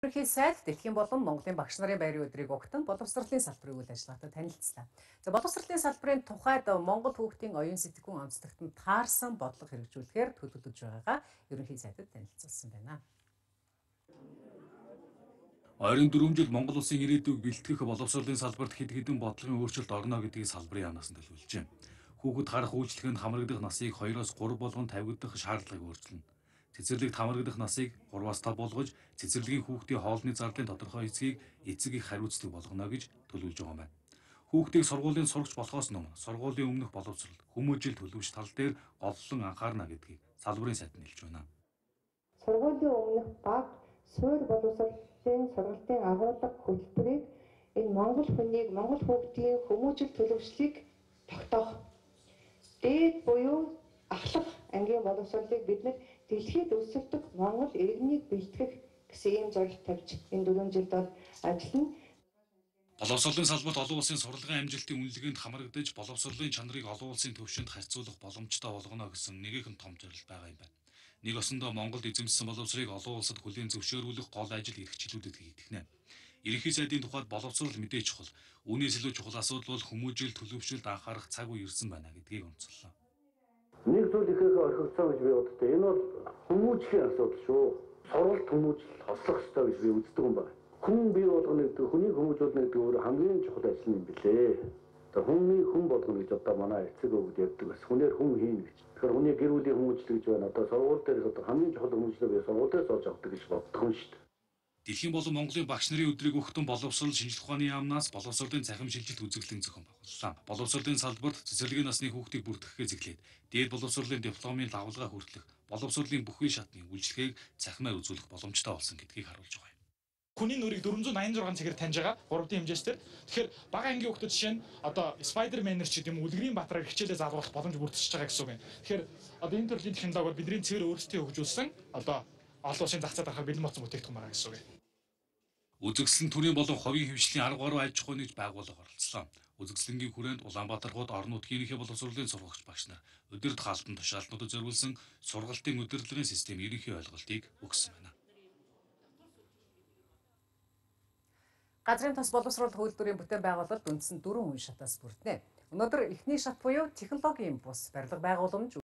Ерөнхий сайд Дэлхийн болон Монголын багш нарын байрын өдрийг огтон боловсролын салбарын үйл ажиллагаатай танилцлаа. За боловсролын салбарын тухайд Монгол хүүхдийн оюун сэтгэхүйн онцлогтод таарсан бодлого хэрэгжүүлэхээр төлөвлөж байгаагаа ерөнхий сайдад танилцуулсан байна. 24 жил Монгол улсын ирээдүйг бэлтгэх боловсролын салбарт хэд хэдэн бодлогын өөрчлөлт орно гэдгийг салбарын яамнаас нь төлөвлөжээ. Хүүхэд харах үйлчлэгэнд хамрагдах насыг 2-оос 3 болгон тавигдах шаардлагыг өөрчилнө. Цэцэрлэгт хамрагдах насыг 3-аас 5 болгож, цэцэрлэгийн хүүхдийн хоолны зардалын тодорхой эцгийг эцэг их хариуцдаг болгоно гэж төлөвлөж байгаа юм байна. Хүүхдийг сургуулийн сурагч болохоос өмнө сургуулийн өмнөх боловсрол, хүмүүжил төлөвш тал дээр голлон анхаарна гэдгийг салбарын сайд нэлж байна. Сургуулийн өмнөх баг суурь боловсролын сургалтын агуулга хөтөлбөрийг энэ Монгол хүнийг, Монгол хүүхдийн хүмүүжил төлөвшлийг тогтоох. Дээд буюу ахлах ангийн боловсролыг бид нар дэлхийд өсөлтөг Монгол иргэнийг бэлтгэх гэсэн ийм зорилт тавьж энэ 4 жилд бол ажиллана. Боловсролын салбарт олон улсын сурлагын амжилтын үнэлгээнд хамрагдаж, боловсролын чанарыг олон улсын түвшинд харьцуулах боломжтой болгоно гэсэн нэгэн том зорилт байгаа юм байна. Нэг осондоо Монголд эзэмшсэн боловсрыг олон улсад хүлээн зөвшөөрүүлэх гол ажил эрхчлүүдэд хийгдэнэ. Ерөнхий сайдын тухайд боловсрол мэдээж чухал. Үүнээс илүү чухал асуудал бол хүмүүжил төлөвшөлд анхаарах цаг үе ирсэн байна гэдгийг онцоллоо. Нэг зүйл ихээр орхигдсон гэж би боддог. Энэ бол хүмүүжлийн асуудал шүү. Сургалт хүмүүжил хослох ёстой гэж би үздэг юм байна. Хүн бий болгоно гэдэг, хүнийг хүмүүжүүлнэ гэдэг өөр хамгийн чухал ажил юм билээ. Тэгээ хүнийг хүн болгоно гэж одоо манай эцэг өвгд ярьдаг бас. Хүнээр хүн хийнэ гэж. Тэгэхээр хүний гэр бүлийн хүмүүжил гэж байна. Одоо сургууль дээр одоо хамгийн чухал хүмүүжлээ би сургууль дээр сууж авдаг гэж боддог юм шүү дээ. Дэлхийн болон Монголын багш нарын өдрийг өгтөн боловсрол шинжилх ухааны яамнаас боловсролын цахим шилжилт үзэсгэлэн зохион байгууллаа. Боловсролын салбарт цэцэрлэгийн насны хүүхдийг бүртгэхээс эхлээд дээд боловсролын дипломын давалгаа хүртэлх боловсролын бүхий шатны үйлчлэгийг цахимаар үзүүлэх боломжтой болсон гэдгийг харуулж байгаа юм. Хүний нүрийг 486 цагаар таньж байгаа 3D хэмжээсээр. Тэгэхээр бага ангийн хүүхдүүд жишээ нь одоо Spider-Man-эр ч гэдэм үлгэрийн баатараар хичээлээ заалгуулах боломж бүрдчихэж байгаа гэсэн үг юм. Тэгэхээр одоо энэ төрлийн технологиор бидний цэвэр өөрсдөө хөгжүүлсэн одоо олон улсын зах зээл дарахаар бэлэн болсон бүтээгдэхүүн байгаа гэсэн үг юм. Үзэгсэлэн төрийн болон хувийн хвшлийн 13 аж ахуйн нэгж байгууллага оролцлоо. Үзэгсэлэнгийн хүрээнд Улаанбаатар хот орон нутгийнхээ боловсролын сургагч багш нар өдөрт хаалтан тушаалтнуудад зориулсан сургалтын удирдлагын систем ерөнхий ойлголтыг өгсөн байна. Газрын тос боловсрол хөлбөрийн бүтээн байгуулалт үндсэн 4 үе шатаас бүрдэнэ. Өнөөдөр эхний шат буюу технологийн бус барилга байгууламж